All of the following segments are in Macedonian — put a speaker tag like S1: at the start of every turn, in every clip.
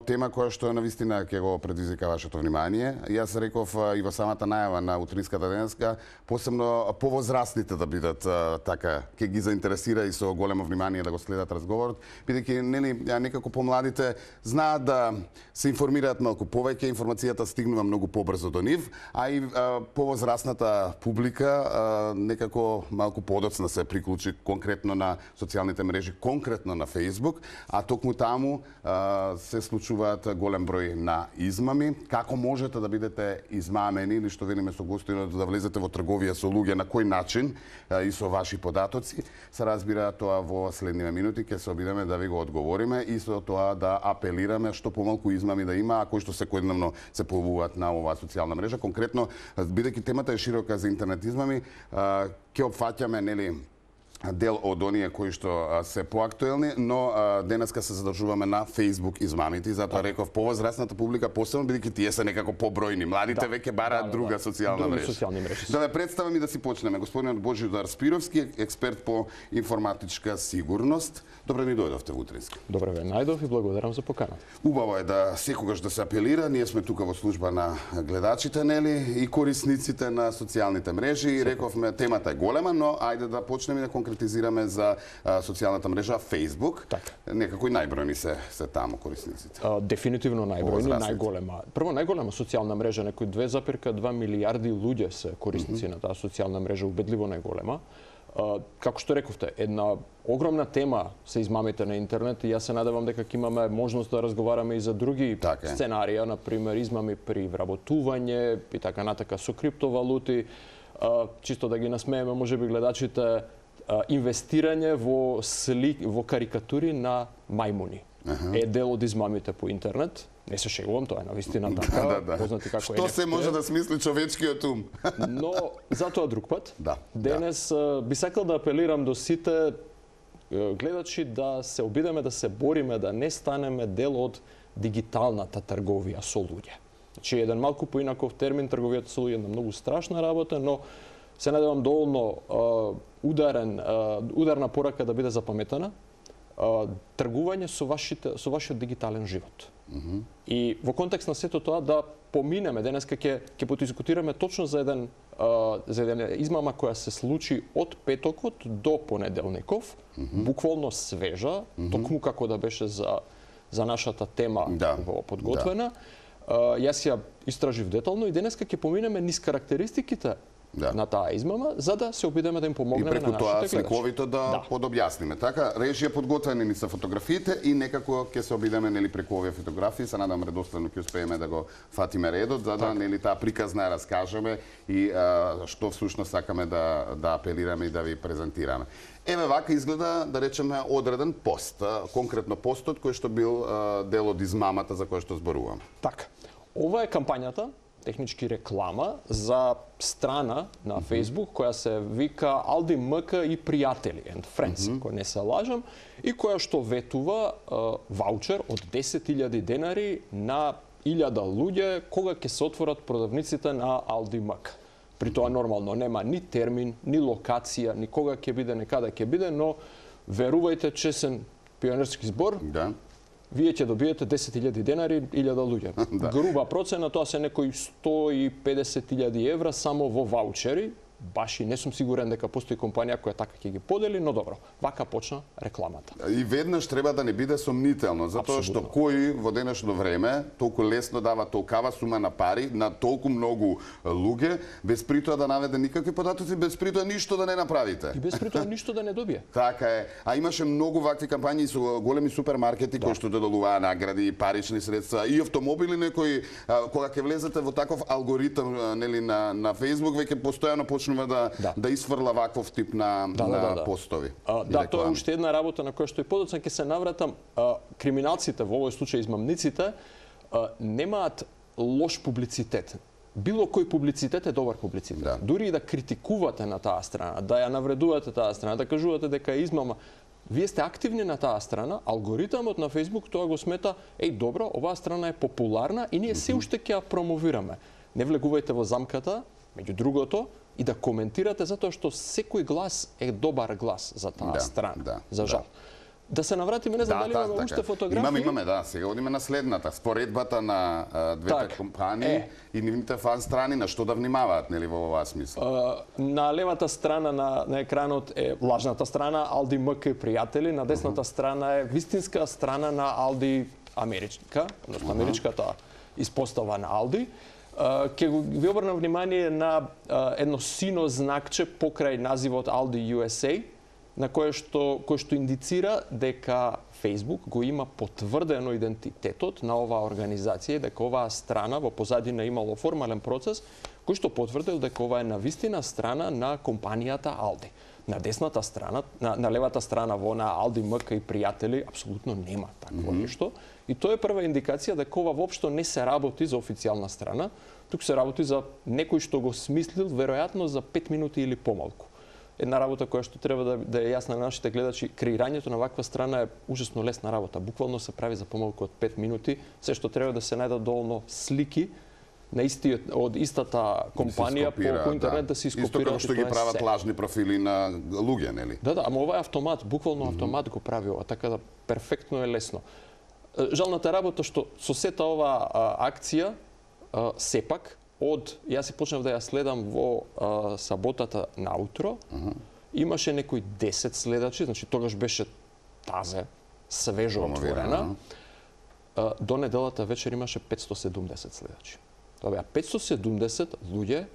S1: тема која што навистина ќе го предизвика вашето внимание. Јас реков и во самата најава на утринската денеска, посебно повозрастните да бидат така, ќе ги заинтересира и со големо внимание да го следат разговорот, бидејќи нели некако помладите знаат да се информираат малку повеќе, информацијата стигнува многу побрзо до нив, а и повозрастната публика некако малку подоцна се приклучи конкретно на социјалните мрежи, конкретно на Facebook, а токму таму се случуваат голем број на измами. Како можете да бидете измамени или што велиме со гостинот да влезете во трговија со луѓе, на кој начин и со ваши податоци, се разбира тоа во следниве минути ќе се обидеме да ви го одговориме и со тоа да апелираме што помалку измами да има, а кои што секојдневно се појавуваат на оваа социјална мрежа. Конкретно, бидејќи темата е широка за интернет измами, ќе опфаќаме нели дел од оние кои што се поактуелни, но денеска се задржуваме на Facebook измамите и затоа реков повозрастната публика, посебно бидејќи тие се некако побројни. Младите веќе бараат друга социјална мрежа. Да ве представам и да си почнеме. Господинот Божидар Спировски, експерт по информатичка сигурност. Добре ни дојдовте во утрински.
S2: Добре ве најдов и благодарам за поканата.
S1: Убаво е да секогаш да се апелира. Ние сме тука во служба на гледачите, нели, и корисниците на социјалните мрежи. И рековме темата е голема, но ајде да почнеме да конкретизираме за социјалната мрежа Facebook.
S2: Така.
S1: Некако и најбројни се таму корисниците.
S2: Дефинитивно најбројни, најголема. Прво најголема социјална мрежа, некои 2,2 милијарди луѓе се корисници на таа социјална мрежа, убедливо најголема. Како што рековте, една огромна тема се измамите на интернет и јас се надевам дека ќе имаме можност да разговараме и за други сценарија, например измами при вработување и така натака со криптовалути, чисто да ги насмееме можеби гледачите, инвестирање во карикатури на мајмуни. Е дел од измамите по интернет. Не се шегувам, тоа е навистина така, познати како
S1: Што се може да смисли човечкиот ум?
S2: Но затоа друг пат. Денес би сакал да апелирам до сите гледачи да се обидеме да се бориме да не станеме дел од дигиталната трговија со луѓе. Значи еден малку поинаков термин, трговијата со луѓе е многу страшна работа, но се надевам доволно ударна порака да биде запаметена. Тргување со вашиот дигитален живот. И во контекст на сето тоа да поминеме, денеска ќе подискутираме точно за една измама која се случи од петокот до понеделников, буквално свежа, токму како да беше за нашата тема подготвена. Јас ја истражив детално и денеска ќе поминеме низ карактеристиките на таа измама, за да се обидеме да им помогнеме на нашите гледачи.
S1: И преку тоа сликовито да подобјасниме. Така, режија подготвени ни се фотографиите и некако ќе се обидеме нели преку овие фотографии, се надам редостојно ќе успееме да го фатиме редот, за да нели таа приказна раскажеме и што всушност сакаме да апелираме и да ви презентираме. Еве вака изгледа, да речеме, одреден пост, конкретно постот кој што бил дел од измамата за која што зборуваме.
S2: Така. Ова е кампањата, технички реклама за страна на Facebook која се вика Aldi MK и пријатели and friends, кој не се лажам, и која што ветува ваучер од 10.000 денари на 1000 луѓе кога ќе се отворат продавниците на Aldi MK. При тоа нормално нема ни термин, ни локација, ни кога ќе биде, ни каде ќе биде, но верувајте, чесен пионерски збор, вие ќе добиете 10.000 денари, 1000 луѓе. Груба процена, тоа се некои 150.000 евра само во ваучери. Баш и не сум сигурен дека постои компанија која така ќе ги подели, но добро, вака почна рекламата. И
S1: веднаш треба да не биде сомнително, затоа што кој во денешно време толку лесно дава толкава сума на пари на толку многу луѓе, без при тоа да наведе никакви податоци, без при тоа ништо да не направите.
S2: И без при тоа ништо да не добие.
S1: Така е. А имаше многу вакви кампањи со големи супермаркети кои што доделуваа награди, парични средства и автомобили некои, кога ќе влезете во таков алгоритам нели на Facebook, веќе постојано да исфрла ваков тип на постови.
S2: Да, тоа е уште една работа на која што и подоцна ќе се навратам. Криминалците, во овој случај измамниците, немаат лош публицитет. Било кој публицитет е добар публицитет. Дури и да критикувате на таа страна, да ја навредувате таа страна, да кажувате дека е измама, вие сте активни на таа страна, алгоритамот на Facebook тоа го смета, добро, оваа страна е популарна и ние се уште ќе ја промовираме. Не влегувајте во замката, меѓу другото, и да коментирате затоа што секој глас е добар глас за таа страна, за жал. Да се навратиме, не знам дали имаме уште фотографии.
S1: Имаме, да. Сега одиме на следната. Споредбата на двете компании и нивните фан страни, на што да внимаваат, нели, во оваа смисла?
S2: На левата страна на екранот е лажната страна, Алди МК и пријатели, на десната страна е вистинска страна на Алди Америчка, односно америчката испостава на Алди. Ке ви обрнам внимание на едно сино знакче покрај називот Aldi USA, на кој што индицира дека Facebook го има потврдено идентитетот на оваа организација, дека оваа страна во позадина имало формален процес кој што потврдил дека ова е навистина страна на компанијата Aldi. На десната страна, на левата страна во на Aldi МК и пријатели апсолутно нема такво нешто. И тоа е прва индикација дека ова воопшто не се работи за официјална страна, туку се работи за некој што го смислил веројатно за 5 минути или помалку. Една работа која што треба да е јасна на нашите гледачи, креирањето на ваква страна е ужасно лесна работа. Буквално се прави за помалку од 5 минути. Се што треба да се најдат доволно слики на од истата компанија по интернет да се ископираат.
S1: Исто како што ги прават лажни профили на луѓе, нели?
S2: Да, ама ова е автомат, буквално автомат го прави ова, така да перфектно е лесно. Жалната работа што со сета оваа акција сепак јас си почнав да ја следам во саботата наутро, имаше некои 10 следачи, значи тогаш беше тазе, свежо отворена. До неделата вечер имаше 570 следачи. Тоа беа 570 луѓе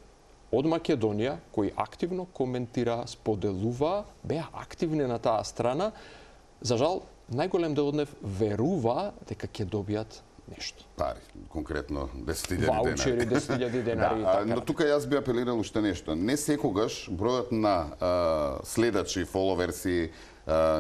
S2: од Македонија кои активно коментираа, споделуваа, беа активни на таа страна. За жал, најголем дел од нив верува дека ќе добијат нешто.
S1: Пари, конкретно 10.000 денари.
S2: Ваучери, 10.000 денари.
S1: Но тука јас би апелирал уште нешто. Не секогаш бројот на следачи, фоловерси,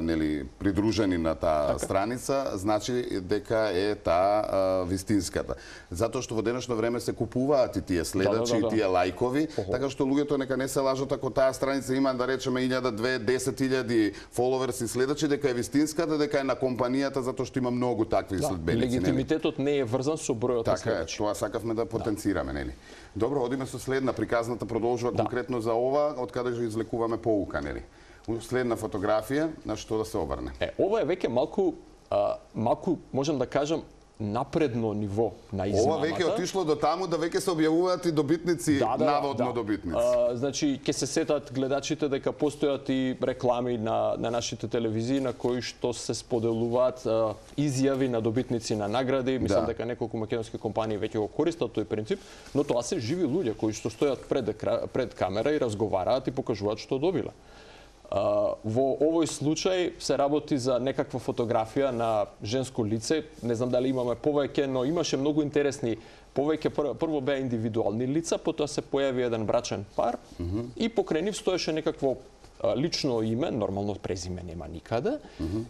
S1: нели, придружени на таа страница, значи дека е таа вистинската. Затоа што во денешно време се купуваат и тие следачи, и тие лајкови, така што луѓето нека не се лажат ако таа страница има, да речеме, 1000, 2000, 10.000 фоловерси следачи, дека е вистинската, дека е на компанијата, затоа што има многу такви следбеници.
S2: Легитимитетот не е врзан со бројот на следачи.
S1: Така е, тоа сакавме да потенцираме, нели? Добро, одиме со следна, приказната продолжува конкретно за ова, од каде ја извлекуваме поука, нели? Следна фотографија, на што да се обрне?
S2: Ова е веќе малку, можам да кажам, напредно ниво на измамата.
S1: Ова веќе отишло до таму да веќе се објавуваат и добитници, наводно добитници.
S2: Значи, ќе се сетат гледачите дека постојат и реклами на нашите телевизии на кои што се споделуваат изјави на добитници на награди. Мислам дека неколку македонски компании веќе го користат тој принцип, но тоа се живи луѓе кои што стојат пред камера и разговараат и покажуваат што добиле. Во овој случај се работи за некаква фотографија на женско лице. Не знам дали имаме повеќе, но имаше многу интересни повеќе. Прво беа индивидуални лица, потоа се појави еден брачен пар и покрај нив стоеше некакво лично име, нормално презиме нема никаде,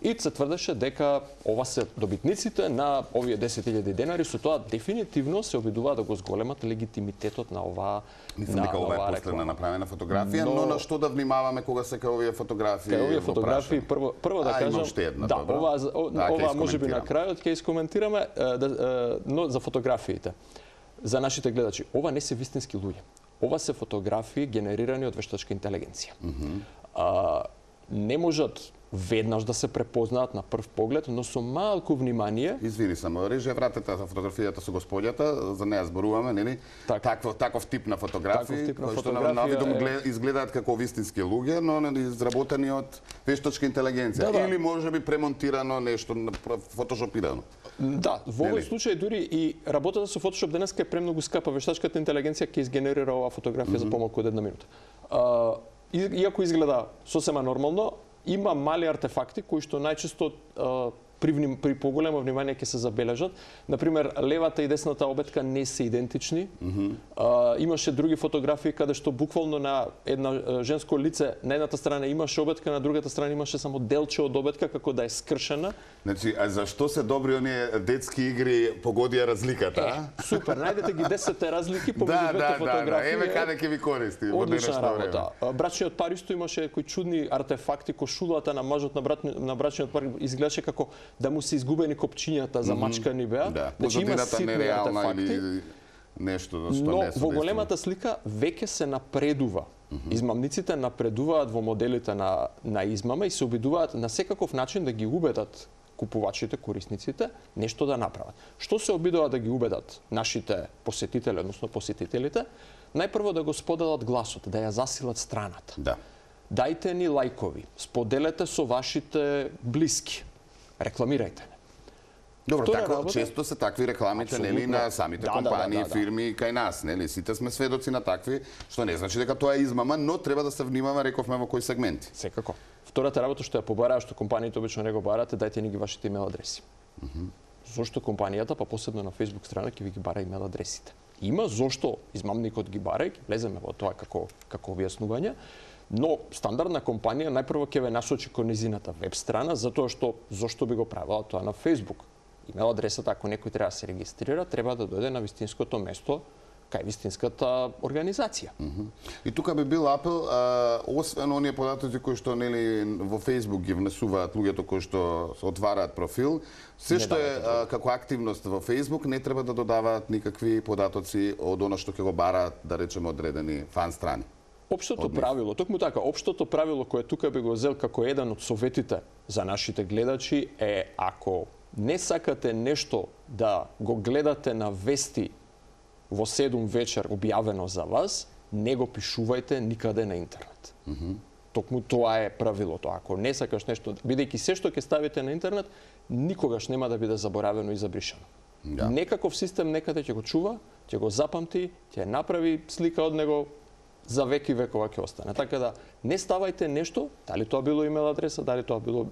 S2: и се тврдеше дека ова се добитниците на овие 10.000 денари, со тоа дефинитивно се обидуваат да го зголемат легитимитетот на оваа реклама.
S1: Мислам дека ова е последна направена фотографија, но на што да внимаваме кога се кај овие фотографии?
S2: Кај овие фотографии прво да кажам, да, ова можеби на крајот ќе искоментираме, но за фотографиите. За нашите гледачи, ова не се вистински луѓе. Ова се фотографии генерирани од вештачка интелигенција. Не можат веднаш да се препознаат на прв поглед, но со малку внимание.
S1: Извини само, режија вратете за фотографијата со господјата, за неја зборуваме, нели? Таков тип на фотографии, кои што на видом изгледаат како вистински луѓе, но изработени од вештачка интелигенција или можеби премонтирано нешто, фотошопирано.
S2: Да, во овој случај дури и работата со Photoshop денеска е премногу скапа. Вештачката интелигенција ќе изгенерира оваа фотографија за помалку од 1 минута. Иако изгледа сосема нормално, има мали артефакти кои што најчесто при поголемо внимание ќе се забележат. Например, левата и десната обетка не се идентични. Имаше други фотографии каде што буквално на една женско лице на едната страна имаше обетка, на другата страна имаше само делче од обетка како да е скршена.
S1: Значи, а зашто се добри оние детски игри погодија разликата?
S2: Супер, најдете ги 10 разлики помеѓу двете фотографии.
S1: Еве каде ќе ви користи во денешно време.
S2: Брачниот пар исто имаше кои чудни артефакти, кошулата на мажот на брачниот пар изгледаше како да му се изгубени копчињата за мачкани беа.
S1: Значи има ситни артефакти. Нешто што
S2: но во големата слика веќе се напредува Измамниците напредуваат во моделите на измама и се обидуваат на секаков начин да ги убедат купувачите, корисниците, нешто да направат. Што се обидуваат да ги убедат нашите посетители, односно посетителите? Најпрво да го споделат гласот, да ја засилат страната.
S1: Да.
S2: Дајте ни лајкови, споделете со вашите блиски, рекламирајте не.
S1: Добро, така често се такви рекламите, нели, на самите компании, фирми кај нас, нели, сите сме сведоци на такви, што не значи дека тоа е измама, но треба да се внимава, рековме, во кои сегменти.
S2: Секако. Втората работа што ја побараа, што компаниите обично не го барате, дајте ни ги вашите имейл адреси. Зошто компанијата, па посебно на Facebook страна, ќе ви ги бара имейл адресите. Има зошто измамникот ги бара, ќе влеземе во тоа како објаснување, но стандардна компанија најпрво ќе ве насочи кон низината веб страна, затоа што зошто би го правила тоа на Facebook. Имейл адресата, ако некој треба да се регистрира, треба да дојде на вистинското место, кај вистинската организација.
S1: И тука би бил апел, освен оние податоци кои што нели во Facebook ги внесуваат луѓето кои што се отвараат профил, се што е како активност во Facebook не треба да додаваат никакви податоци од она што ќе го бараат, да речеме, одредени фан страни.
S2: Општото правило, токму така, општото правило кое тука би го зел како еден од советите за нашите гледачи е, ако не сакате нешто да го гледате на вести во 7 вечер објавено за вас, не го пишувајте никаде на интернет. Токму тоа е правилото. Ако не сакаш нешто, бидејќи се што ќе ставите на интернет, никогаш нема да биде заборавено и забришано. Да. Некаков систем некаде ќе го чува, ќе го запамти, ќе направи слика од него, за веки векова ќе остане. Така да не ставајте нешто, дали тоа било имейл адреса, дали тоа било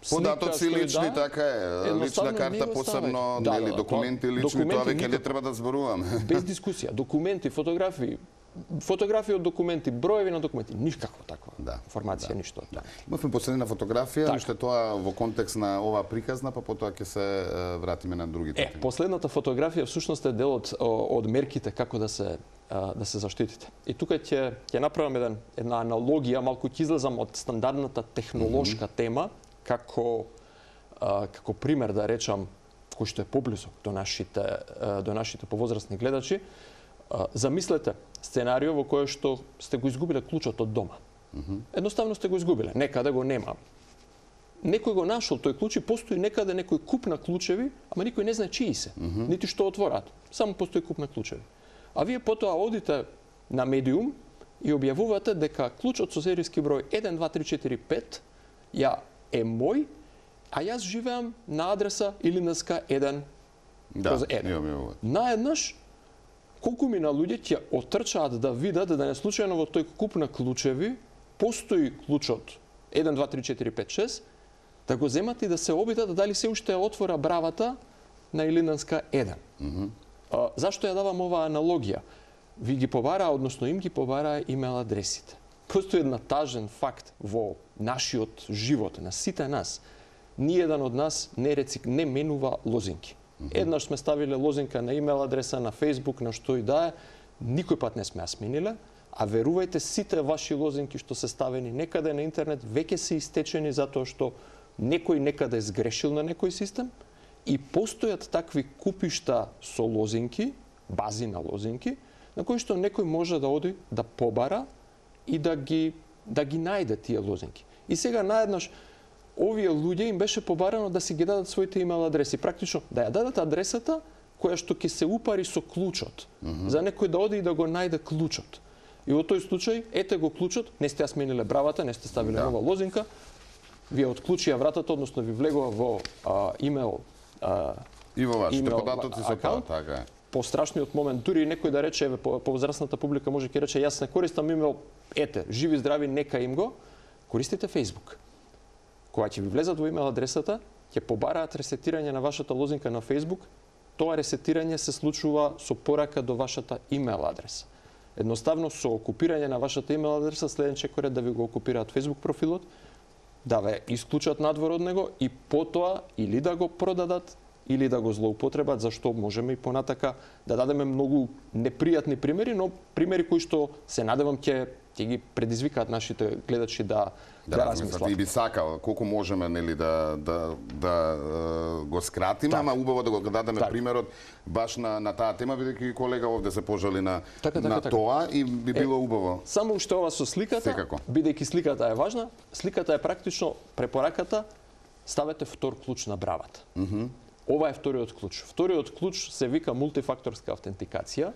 S1: податоци лични, така е, лична карта посебно, нели, документи лични, тоа веќе не треба да зборуваме.
S2: Без дискусија, документи, фотографии од документи, броеви на документи, никаква таква информација, ништо.
S1: Имавме последна фотографија, уште тоа во контекст на оваа приказна, па потоа ќе се вратиме на другите.
S2: Последната фотографија всушност е дел од мерките како да се заштитите. И тука ќе направам една аналогија, малку ќе излезам од стандардната технолошка тема, како пример да речам, кој што е поблизок до нашите повозрастни гледачи. Замислете сценарио во кое што сте го изгубиле клучот од дома. Едноставно сте го изгубиле, некаде го нема. Некој го нашол тој клуч и постои некаде некој куп на клучеви, ама никој не знае чии се, нити што отвораат. Само постои куп на клучеви. А вие потоа одите на медиум и објавувате дека клучот со серијски број 1, 2, 3, 4, 5 ја е мој, а јас живеам на адреса Илинденска 1 kroz 1. Наеднаш, колку мина луѓе ќе отрчаат да видат да не случајно во тој куп на клучеви постои клучот 1, 2, 3, 4, 5, 6, да го земат и да се обидат дали се уште отвора бравата на Илинденска 1. Зашто ја давам оваа аналогија? Ви ги побараа, односно им ги побараа имейл адресите. Постои една тажен факт во нашиот живот, на сите нас. Ниеден од нас не менува лозинки. Еднаш сме ставиле лозинка на имейл адреса, на Facebook, на што и да е, никој пат не сме ја смениле, а верувајте, сите ваши лозинки што се ставени некаде на интернет веќе се истечени затоа што некој некаде е сгрешил на некој систем и постојат такви купишта со лозинки, бази на лозинки, на кои што некој може да оди да побара и да ги најде тие лозинки. И сега наеднаш овие луѓе им беше побарано да си ги дадат своите имейл адреси, практично да ја дадат адресата која што ќе се упари со клучот, за некој да оди и да го најде клучот. И во тој случај, ете го клучот, не сте ја смениле бравата, не сте ставиле нова лозинка, вие отклучија вратата, односно ви влегува во имейл
S1: и во вашите податоци со тоа, така е.
S2: Пострашниот момент, дури некој да рече, повозрастната публика може ќе рече, јас не користам имейл, ете, живи здрави, нека им го, користите Facebook. Кога ќе ви влезат во имейл адресата, ќе побараат ресетирање на вашата лозинка на Facebook, тоа ресетирање се случува со порака до вашата имейл адреса. Едноставно со окупирање на вашата имейл адреса, следен чекор е да ви го окупираат Facebook профилот, да ве исклучат надвор од него и потоа или да го продадат, или да го злоупотребат, зашто можеме и понатака да дадеме многу непријатни примери, но примери кои што се надевам ќе ќе ги предизвикаат нашите гледачи да размислат.
S1: И би сакал колку можеме нели да го скратиме, ама убаво да го дадеме примерот баш на таа тема, бидејќи колега овде се пожали на тоа и би било убаво.
S2: Само уште ова со сликата, бидејќи сликата е важна, сликата е практично препораката ставете втор клуч на бравата. Ова е вториот клуч. Вториот клуч се вика мултифакторска автентикација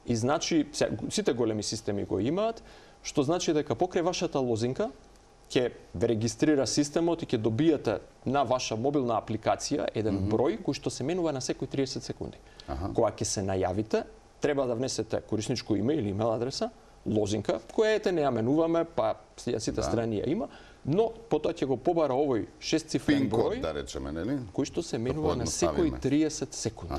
S2: и значи сите големи системи го имаат, што значи дека покрај вашата лозинка ќе ве регистрира системот и ќе добиете на ваша мобилна апликација еден број кој што се менува на секои 30 секунди. Кога ќе се најавите, треба да внесете корисничко име или имейл адреса, лозинка, која не ја менуваме, па сите страни ја има, но потоа ќе го побара овој 6-цифрен број,
S1: да речеме, нели?
S2: Кој што се менува на секои 30 секунди.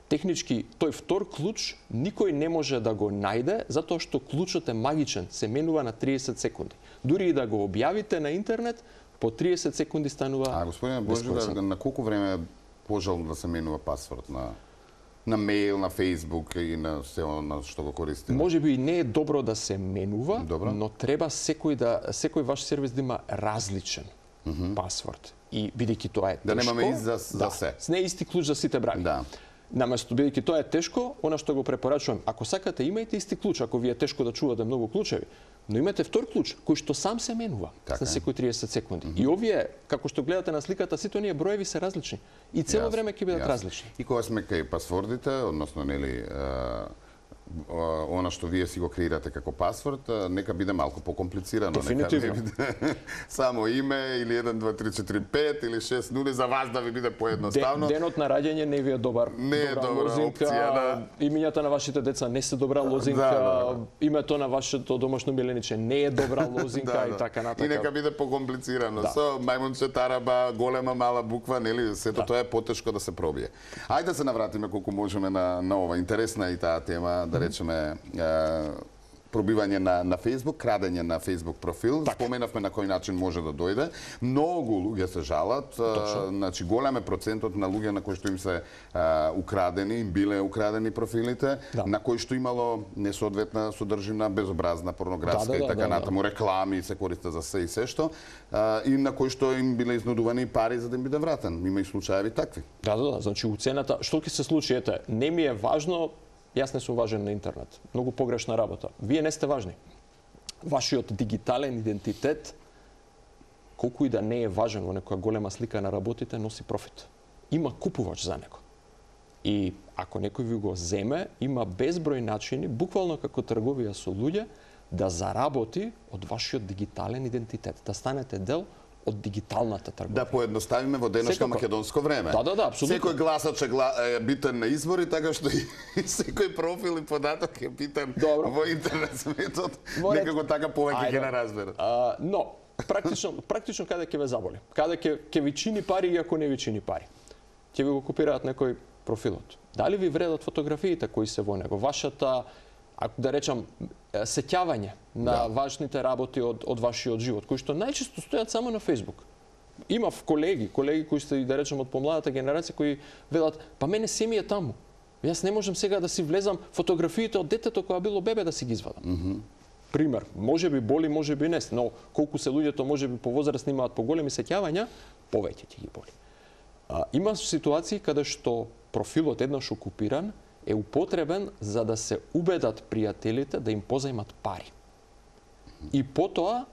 S2: Технички, тој втор клуч никој не може да го најде, затоа што клучот е магичен, се менува на 30 секунди. Дури и да го објавите на интернет, по 30 секунди станува.
S1: Господине Божидар, на колку време е пожелно да се менува пасворд на мејл, на Facebook и на се на што го користиме?
S2: Може би не е добро да се менува, но треба секој ваш сервис да има различен пасворд. И бидејќи тоа е тешко,
S1: да немаме за се.
S2: Не е исти клуч за сите брави. Наместо бидејќи тоа е тешко, она што го препорачувам, ако сакате имајте исти клуч, ако ви е тешко да чувате многу клучеви, но имате втор клуч кој што сам се менува на секои 30 секунди. И овие, како што гледате на сликата, сите оние броеви се различни и цело време ќе бидат различни.
S1: И кога сме кај пасвордите, односно нели она што вие си го креирате како пасворд, нека биде малку покомплицирано.
S2: Дефинитивно.
S1: Нека не биде само име или 1, 2, 3, 4, 5 или 6 нули за вас да ви биде поедноставно.
S2: Денот на раѓање не ви е добра лозинка, опција, имињата на вашите деца не се добра лозинка, името на вашето домашно милениче не е добра лозинка и така натака.
S1: И нека биде покомплицирано. Со мајмунче, тараба, голема, мала буква, нели, сето тоа е потешко да се пробие. Ајде да се навратиме колку можеме на ова. Интересна и таа тема, да речеме, пробивање на Facebook, крадење на Facebook профил. Споменавме на кој начин може да дојде. Многу луѓе се жалат, значи голем е процентот на луѓе на кои што им се украдени, им биле украдени профилите, на кои што имало несоодветна содржина, безобразна, порнографска и така натаму, реклами се користат за се и се што, и на кои што им биле изнудувани пари за да им биде вратен. Има и случаеви такви.
S2: Значи уцената, што ќе се случи, ете, не ми е важно. Јас не сум важен на интернет. Многу погрешна работа. Вие не сте важни. Вашиот дигитален идентитет, колку и да не е важен во некоја голема слика на работите, носи профит. Има купувач за него. И ако некој ви го земе, има безброј начини, буквално како трговија со луѓе, да заработи од вашиот дигитален идентитет, да станете дел од дигиталната трговија.
S1: Да поедноставиме во денешно македонско време.
S2: Апсолутно.
S1: Секој гласач е битен на избори, така што и секој профил и податок е битен во интернет светот. Некако така повеќе ќе не разберат.
S2: Но практично каде ќе ве заболи? Каде ќе ви чини пари и ако не ви чини пари? Ќе ви го копираат некој профилот. Дали ви вредат фотографиите кои се во него? Вашата, ако да речам, сеќавање на важните работи од вашиот живот, кои што најчесто стојат само на Facebook. Имав колеги кои се, да речем, од помладата генерација, кои велат, па мене се ми е таму. Јас не можам сега да си влезам фотографиите од детето кога било бебе да си ги извадам. Пример, може би боли, може би не, но колку се луѓето може би повозрастни имаат поголеми сеќавања, повеќе ќе ги боли. Има ситуации каде што профилот еднаш окупиран е употребен за да се убедат пријателите да им позајмат пари. И потоа,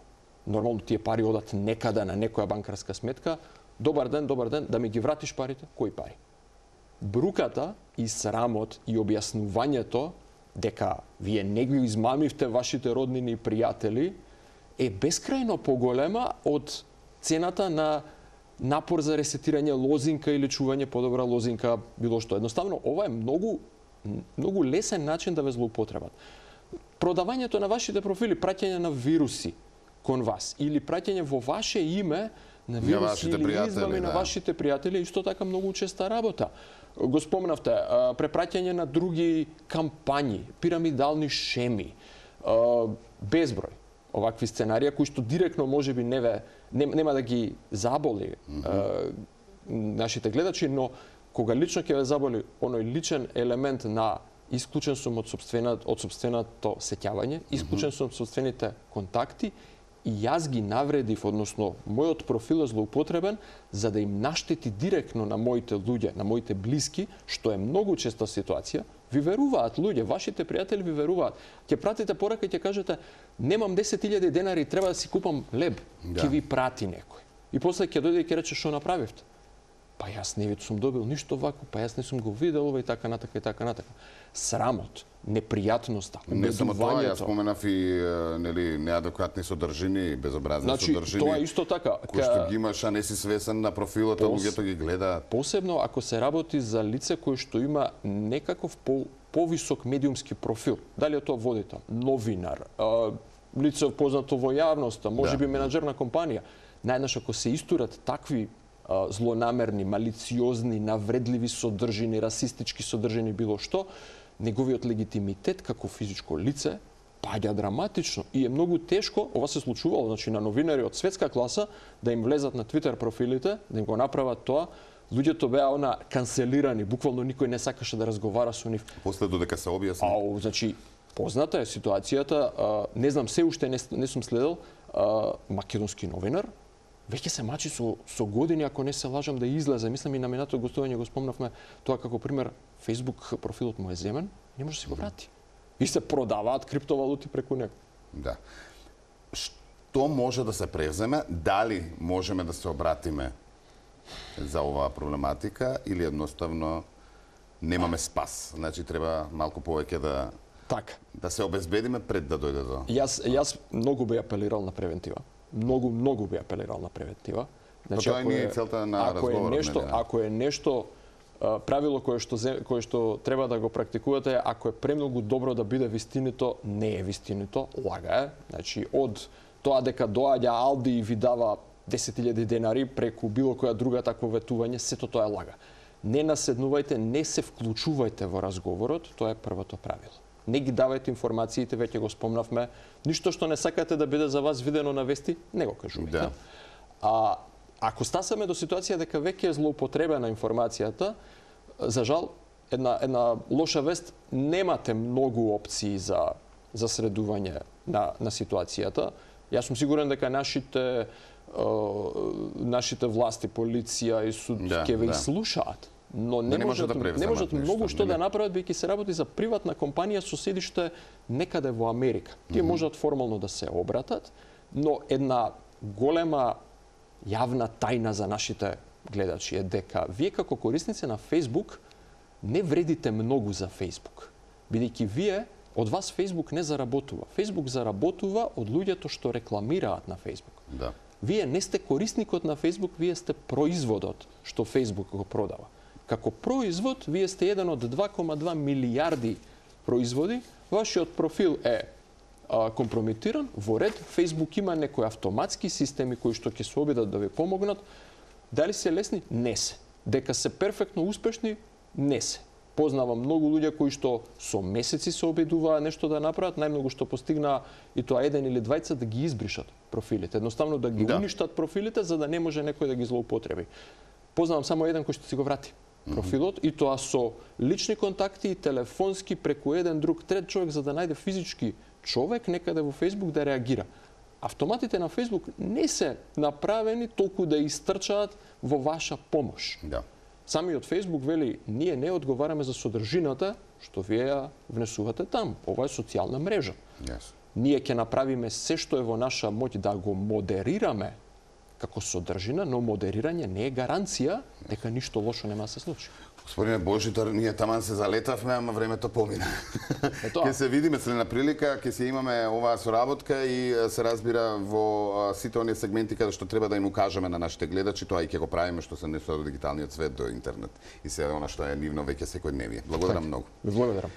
S2: нормално тие пари одат некаде на некоја банкарска сметка, добар ден, да ми ги вратиш парите, кои пари? Бруката и срамот и објаснувањето дека вие не ги измамивте вашите роднини и пријатели е бескрајно поголема од цената на напор за ресетирање лозинка или чување подобра лозинка, било што. Едноставно, ова е многу лесен начин да ве злоупотребат. Продавањето на вашите профили, праќање на вируси кон вас или праќање во ваше име на вируси или измами на вашите пријатели, исто така многу честа работа. Го спомнавте, препраќање на други кампањи, пирамидални шеми, безброј овакви сценарија кои што директно можеби нема да ги заболи нашите гледачи, но кога лично ќе ве заболи оној личен елемент на исклучен сум од сопственото сеќавање, исклучен сум од сопствените контакти и јас ги навредив, односно мојот профил е злоупотребен за да им наштети директно на моите луѓе, на моите блиски, што е многу честа ситуација. Ви веруваат луѓе, вашите пријатели ви веруваат. Ќе пратите порака и ќе кажете немам 10.000 денари, треба да си купам леб. Ќе ви прати некој. И после ќе дојде и ќе рече што направивте. Па јас не сум добил ништо вако, па јас не сум го видел ова и така натака и така натака. Срамот, непријатноста,
S1: не само тоа, јас споменав и нели неадекватни содржини, безобразни содржини.
S2: Тоа е исто така.
S1: Кој што ги имаш, а не си свесен на профилот, а луѓето ги гледаат.
S2: Посебно ако се работи за лице кој што има некаков повисок медиумски профил. Дали е тоа водител, новинар, лице познато во јавноста, можеби менаџер на компанија. Најнаш ако се истурат такви злонамерни, малициозни, навредливи содржини, расистички содржини, било што, неговиот легитимитет како физичко лице паѓа драматично и е многу тешко, ова се случувало, значи на новинари од светска класа да им влезат на Твитер профилите, да им го направат тоа. Луѓето беа канцелирани, буквално никој не сакаше да разговара со нив.
S1: После додека се објасни.
S2: Значи позната е ситуацијата, не знам, се уште не сум следел, македонски новинар веќе се мачи со години, ако не се лажам, да излезе. Мислам и на минатото гостување го спомнавме тоа како пример, Facebook профилот му е земен, не може да се го врати. И се продаваат криптовалути преку него.
S1: Да. Што може да се превземе? Дали можеме да се обратиме за оваа проблематика или едноставно немаме спас? Значи треба малку повеќе да се обезбедиме пред да дојде до...
S2: Јас многу би апелирал на превентива. Многу би апелирал на превентива.
S1: Значи, тоа не е целта на разговорот.
S2: Ако е нешто правило кое што треба да го практикувате, ако е премногу добро да биде вистинито, не е вистинито, лага е. Значи, од тоа дека доаѓа Алди и ви дава 10.000 денари преку било која друга такво ветување, сето тоа е лага. Не наседнувајте, не се вклучувајте во разговорот, тоа е првото правило. Не ги давајте информациите, веќе го спомнавме. Ништо што не сакате да биде за вас видено на вести, не го кажувајте. Да. Ако стасаме до ситуација дека веќе е злоупотребена информацијата, за жал, една лоша вест, немате многу опции за средување на ситуацијата. Јас сум сигурен дека нашите власти, полиција и суд ќе ве слушаат. Но не можат многу што да направат, бидејќи се работи за приватна компанија со седиште некаде во Америка. Тие можат формално да се обратат, но една голема јавна тајна за нашите гледачи е дека вие како корисници на Facebook не вредите многу за Facebook. Бидејќи вие, од вас Facebook не заработува. Facebook заработува од луѓето што рекламираат на Facebook.
S1: Да.
S2: Вие не сте корисникот на Facebook, вие сте производот што Facebook го продава. Како производ, вие сте еден од 2,2 милијарди производи, вашиот профил е компрометиран, во ред, Facebook има некои автоматски системи кои што ќе се обидат да ви помогнат. Дали се лесни? Не се. Дека се перфектно успешни? Не се. Познавам многу луѓе кои што со месеци се обидуваа нешто да направат, најмногу што постигнаа и тоа еден или двајца да ги избришат профилите, едноставно да ги уништат профилите за да не може некој да ги злоупотреби. Познавам само еден кој што си го врати профилот и тоа со лични контакти и телефонски преку еден друг трет човек за да најде физички човек некаде во Facebook да реагира. Автоматите на Facebook не се направени толку да истрчаат во ваша помош.
S1: Да.
S2: Самиот Facebook вели, ние не одговараме за содржината што вие ја внесувате там. Ова е социјална мрежа.
S1: Yes.
S2: Ние ќе направиме се што е во наша моќ да го модерираме како содржина, но модерирање не е гаранција дека ништо лошо нема да се случи.
S1: Господине Божитар, ние таман се залетавме, ама времето помина. Ќе се видиме следна прилика, ќе се имаме оваа соработка и се разбира во сите оние сегменти каде што треба да им укажеме на нашите гледачи, тоа и ќе го правиме што се несува до дигиталниот свет, до интернет и се она што е нивно веќе секојдневие. Благодарам многу.
S2: Благодарам.